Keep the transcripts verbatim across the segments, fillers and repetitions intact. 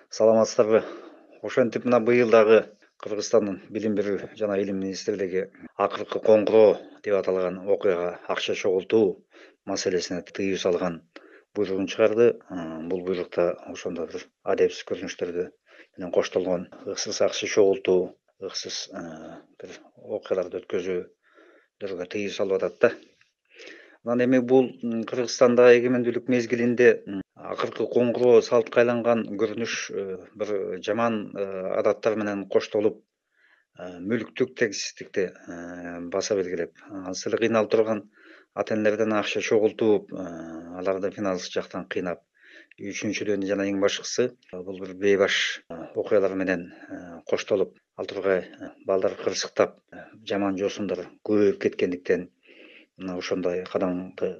Саламатсыздарбы? Ошентип мына быйыл дагы Кыргызстандын билим берүү жана илим министрлиги акыркы коңгуроо деп аталган окуяга акча чогултуу маселесине тыюу салган буйругун чыгарды. Бул буйрукта ошондо бир адепсиз көрүнүштөрдү менен коштолгон ыксыз акча чогултуу, ыксыз бир окуяларды өткөзүүгө тыюу салып атат да. Анан эми бул Кыргызстанда эгемендүүлүк мезгилинде акыркы коңгуроо салтка айланган көрүнүш бир жаман адаттар менен коштолуп, мүлктүк теңсиздикти баса белгилеп, азыр эле кыйналып турган ата энелерден акча чогултуп, аларды финанс жактан кыйнап, үчүнчүдөн жана эң башкысы бул бир бейбаш окуялар менен коштолуп, ал тургай балдар кырсыктап, жаман жоосундор көбөйүп кеткендиктен мына ошондой кадамды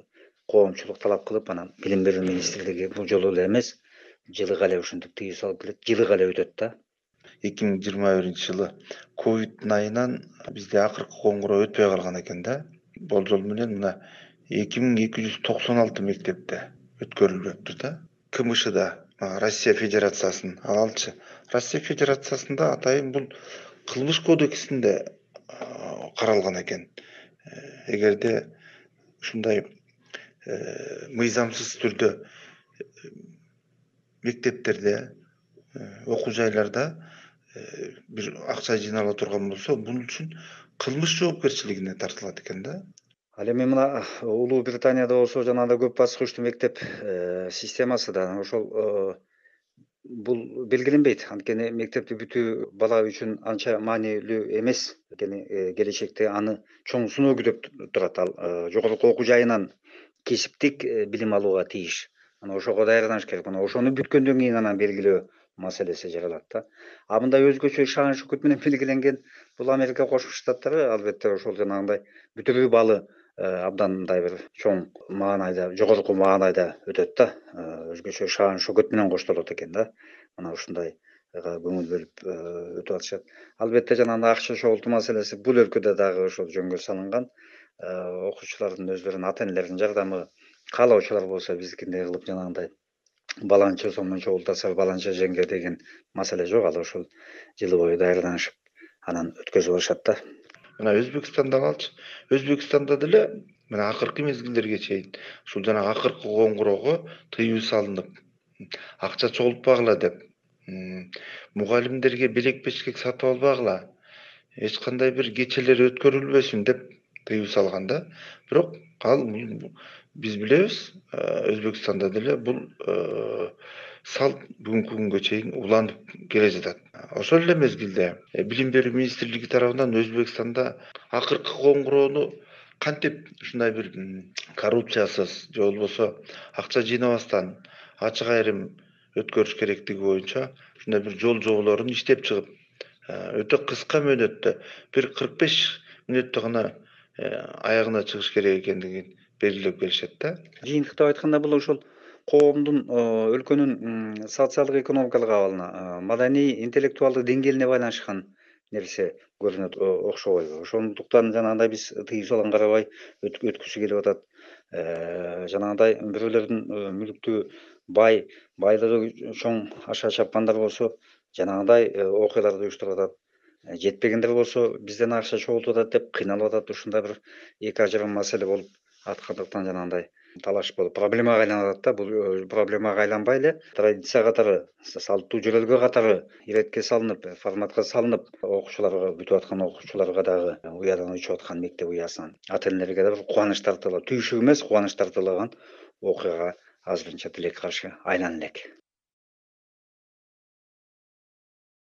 коомчулук талап кылып, анан билим берүү министрлиги бул жолу эле эмес, жылыга эле ушинтип тыюу салып келет, жылыга эле өтөт да. эки миң жыйырма биринчи жылы ковидтин айынан бизде акыркы коңгуроо өтпөй калган экен да. Болжол менен мына эки миң эки жүз токсон алты мектепте өткөрүлүптүр да. КМШда, Россия Федерациясынын, алчы Россия Федерациясында атайын бул кылмыш кодексинде каралган экен. Эгерде ушундай мыйзамсыз түрдө мектептерде, окуу жайларда бир акча жыйнала турган болсо, бул үчүн кылмыш жоопкерчилигине тартылат экен да. Ал эми мына Улуу Британияда болсо жанагындай көп баскычтуу мектеп системасы да ошол бул белгиленбейт. Анткени мектепти бүтүү бала үчүн анча маанилүү эмес. Анткени келечекте аны чоң сыноо күтүп турат. Ал жогорку окуу жайынан кесиптик билим алууга тийиш. Анан ошого даярданыш керек. Мына ошону бүткөндөн кийин анан белгилөө маселеси жаралат да. А мындай өзгөчө шаан шукут менен белгиленген бул Америка Кошмо Штаттары албетте ошол жанагындай бүтүрүү баллы абдан мындай бир чоң маанайда, жогорку маанайда өтөт да. Өзгөчө шаан шөкөт менен коштолот экен да. Мына ушундай көңүл бөлүп өтүп атышат. Албетте жанагындай акча чогултуу маселеси бул өлкөдө дагы ошол жөнгө салынган. Окуучулардын өздөрүнүн ата энелеринин жардамы каалоочулар болсо биздикиндей кылып жанагындай баланча сомдон чогултаса баланча жеңге деген маселе жок. Ал ошол жылы бою даярданышып, анан өткөзүп алышат да. Мына Өзбекстанда алчы. Өзбекстанда деле мына акыркы мезгилдерге чейин ушул жана акыркы коңгуроого тыюу салынып, акча чогултпагыла деп, мугалимдерге белек бешкек сатып албагыла, эч кандай бир кечелер өткөрүлбөсүн деп тыюу салган да. Бирок ал биз билебиз, Өзбекстанда деле бул салт бүгүнкү күнгө чейин уланып келе жатат. Ошол эле мезгилде билим берүү министрлиги тарабынан Өзбекстанда акыркы коңгуроону кантип ушундай бир коррупциясыз же болбосо акча жыйнабастан ачык айрым өткөрүш керектиги боюнча ушундай бир жол жоболорун иштеп чыгып, өтө кыска мөөнөттө бир кырк беш мүнөттө гана аягына чыгыш керек экендигин белгилеп келишет да. Жыйынтыктап айтканда бул ошол коомдун, өлкөнүн социалдык экономикалык абалына, маданий интеллектуалдык деңгээлине байланышкан нерсе көрүнөт окшобойбу? Ошондуктан жанагындай биз тыюу салган карабай өткүсү келип атат. Жанагындай бирөөлөрдүн мүлктүү бай, байлыгы чоң аша чапкандар болсо, жанагындай окуяларды уюштуруп атат. Жетпегендер болсо, бизден акча чогултуп атат деп кыйналып атат. Ушундай бир эки ажырым маселе болуп аткандыктан жанагындай талаш болуп проблемага айланып атат да. Бул проблемага айланбай эле традиция катары, салттуу жөрөлгө катары иретке салынып, форматка салынып, окуучуларга, бүтүп аткан окуучуларга дагы уядан учуп аткан мектеп уясынан ата энелерге да бир кубаныч тартыла, түйшүк эмес, кубаныч тартылаган окуяга азырынча тилекке каршы айлана элек.